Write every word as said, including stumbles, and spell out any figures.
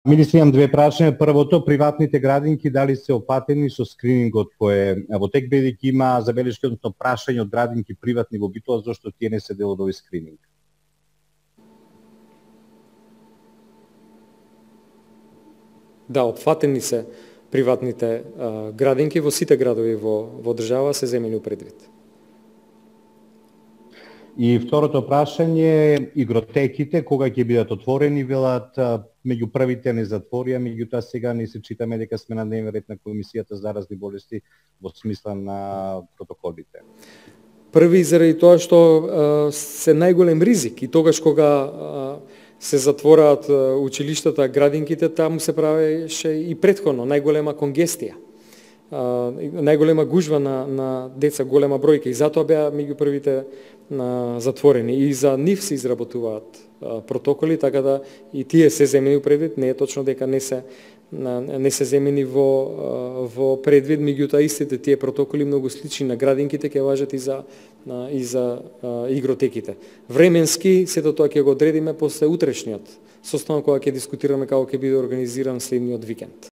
Министри, имам две прашања. Првото, приватните градинки дали се опатени со скринингот кој е во тек, бидејќи има забелешки, односно прашање од градинки приватни во битола, зашто тие не се дел од овој скрининг? Да, опфатени се приватните а, градинки во сите градови во, во држава се земени предвид. И второто прашање, игротеките, кога ќе бидат отворени, велат меѓу првите не затворија, меѓутоа сега не се читаме дека сме на дневен ред на Комисијата за заразни болести во смисла на протоколите. Први заради тоа што а, се најголем ризик и тогаш кога а, се затвораат училиштата, градинките, таму се правеше и претходно најголема конгестија. Uh, најголема гужва на, на деца, голема бројка, и затоа беа меѓу првите uh, затворени. И за нив се изработуваат uh, протоколи, така да и тие се земени предвид, не е точно дека не се uh, не се земени во uh, во предвид, меѓутоа истите тие протоколи многу слични на градинките ќе важат и за uh, и за uh, игротеките. Временски сето тоа ќе го одредиме после утрешниот состанок кога ќе дискутираме како ќе биде организиран следниот викенд.